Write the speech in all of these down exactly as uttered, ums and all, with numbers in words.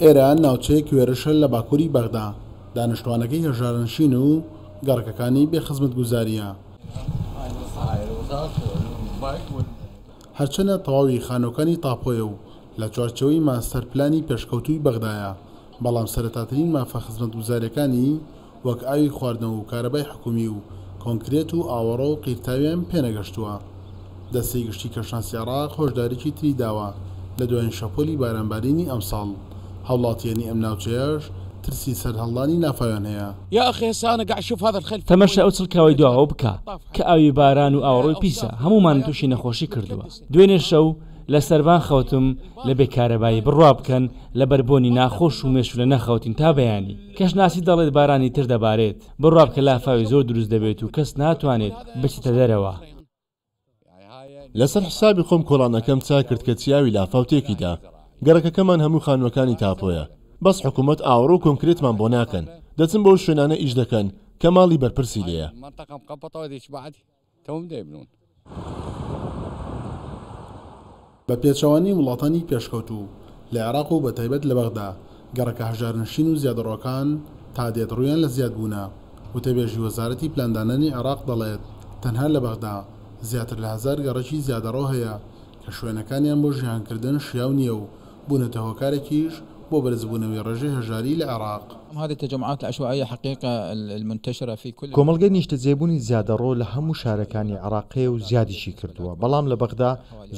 ئێرە ناوچەیەک وێرشە لە باکووری بەغدا، دانیشتوانەکەی هەژارنشین و گەڕەکەکانی بێ خزمەتگوزارییە. هەرچەندە تەواوی خانووەکانی تاپۆیە و لە چوارچێوەی ماستەر پلانی پێشکەوتووی بەغدایە، بەڵام سەرەتاترین مافە خزمەتگوزارییەکانی وەک ئاوی خواردنەوە و کارەبای حکومی و کۆنکرێت و ئاوەڕۆ و قیرتاویان پێنەگەشتووە. دەستەی گشتی کەشناسی عێراق هۆشداریی تری داوە لە دوایین شەپۆلی بارانبارینی ئەمساڵ. هاوڵاتیانی ئەم ناوچەیەش ترسی سەرهەڵدانی لافاویان هەیە. تەماشای ئەو چڵکاوەی دواوە بکە کە ئاوی باران و ئاوەڕۆی پیسە هەموومانی تووشی نەخۆشی کردووە. دوێنێ شەو لە سەربان خەوتم لە بێ کارەبایی، بڕوا بکەن لەبەر بۆنی ناخۆش و مێشولە نەخەوتین تا بەیانی. کەشناسی دەڵێت بارانی تر دەبارێت، بڕوا بکە لافاوی زۆر دروست دەبێت و کەس ناتوانێت بچێتە دەرەوە. لەسەر حسابی خۆم کۆڵانەکەم چاک کرد کە چیاوی لافاو تێکیدا. گەڕەکەکەمان هەموو خانووەکانی تاپۆیە، بەس حکوومەت ئاوەڕۆ و کۆنکرێتمان بۆ ناکەن، دەچن بەو شوێنانە ئیش دەکەن کە ماڵی بەرپرسی لێیە. بە پێچەوانەی وڵاتانی پێشکەوتوو لە عێراق و بەتایبەت لە بەغدا، گەڕەکە هەژارنشین و زیادەڕۆکان تا دێت ڕوویان لە زیادبوونە. وتەبێژی وەزارەتی پلاندانانی عێراق دەڵێت تەنها لە بەغدا زیاتر لە هەزار گەڕەکی زیادەڕۆ هەیە کە شوێنەکانیان بۆ ژیانکردن شیاو نییە و بوونەتە هۆکارێکیش بۆ بەرزبوونەوەی ڕێژەی هەژاری لە عێراق. کۆمەڵگەی نیشتەجێبوونی زیادەڕۆ لە هەموو شارەکانی عێراق هەیە و زیادیشی کردووە، بەڵام لە بەغدا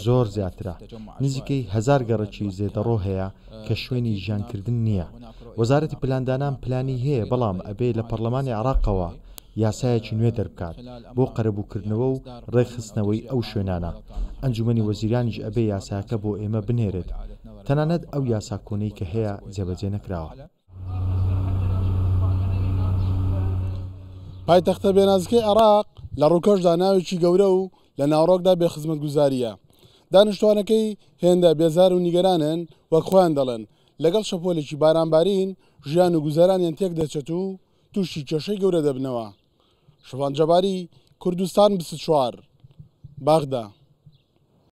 زۆر زیاترە. نزیکەی هەزار گەڕەکی زێدەڕۆ هەیە کە شوێنی ژیانکردن نییە. وەزارەتی پلاندانان پلانی هەیە، بەڵام ئەبێ لە پەرلەمانی عێراقەوە یاسایەکی نوێ دەربکات بۆ قەرەبووکردنەوە و ڕێکخستنەوەی ئەو شوێنانە. ئەنجومەنی وەزیرانیش ئەبێ یاساکە بۆ ئێمە بنێرێت. تەنانەت ئەو یاسا کۆنەی کە هەیە جێبەجێ نەکراوە. پایتەختە بێنازکەی عێراق لە ڕووکەشدا ناوێکی گەورە و لە ناوەڕۆکدا بێخزمەتگوزارییە. دانیشتوانەکەی هێندە بێزار و نیگەرانن وەک خۆیان دەڵێن لەگەڵ شەپۆلێکی بارانبارین ژیان و گوزەرانیان تێک دەچێت و تووشی کێشەی گەورە دەبنەوە. شوان جەباری، کوردستان بیست و چوار، بەغدا.